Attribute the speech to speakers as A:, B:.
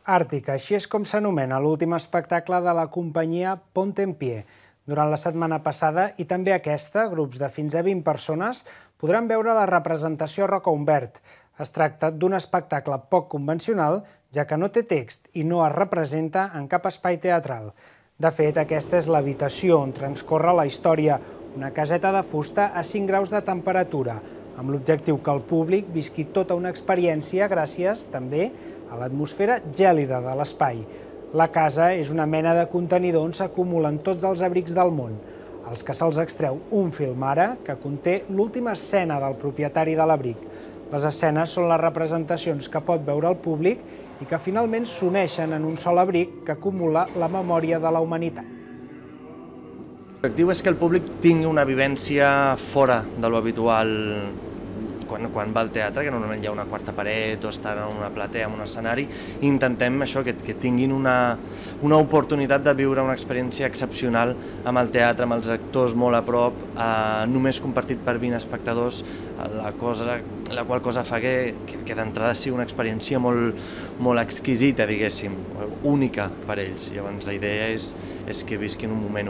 A: Àrtica, així és com s'anomena l'últim espectacle de la companyia Ponte en Pie. Durant la setmana passada i també aquesta, grups de fins a 20 persones podran veure la representació a Roca Humbert. Es tracta d'un espectacle poc convencional, ja que no té text i no es representa en cap espai teatral. De fet, aquesta és l'habitació on transcorre la història, una caseta de fusta a 5 graus de temperatura, amb l'objectiu que el públic visqui tota una experiència gràcies, també, a l'atmosfera gèlida de l'espai. La casa és una mena de contenidor on s'acumulen tots els abrics del món, als que se'ls extreu un film ara que conté l'última escena del propietari de l'abric. Les escenes són les representacions que pot veure el públic i que finalment s'uneixen en un sol abric que acumula la memòria de la humanitat.
B: L'objectiu és que el públic tingui una vivència fora de lo habitual quan va al teatre, que normalment hi ha una quarta paret o estan en una platea, en un escenari, i intentem això, que tinguin una oportunitat de viure una experiència excepcional amb el teatre, amb els actors molt a prop, només compartit per 20 espectadors, la qual cosa fa que d'entrada sigui una experiència molt exquisita, diguéssim, única per ells. Llavors la idea és que visquin un moment únic.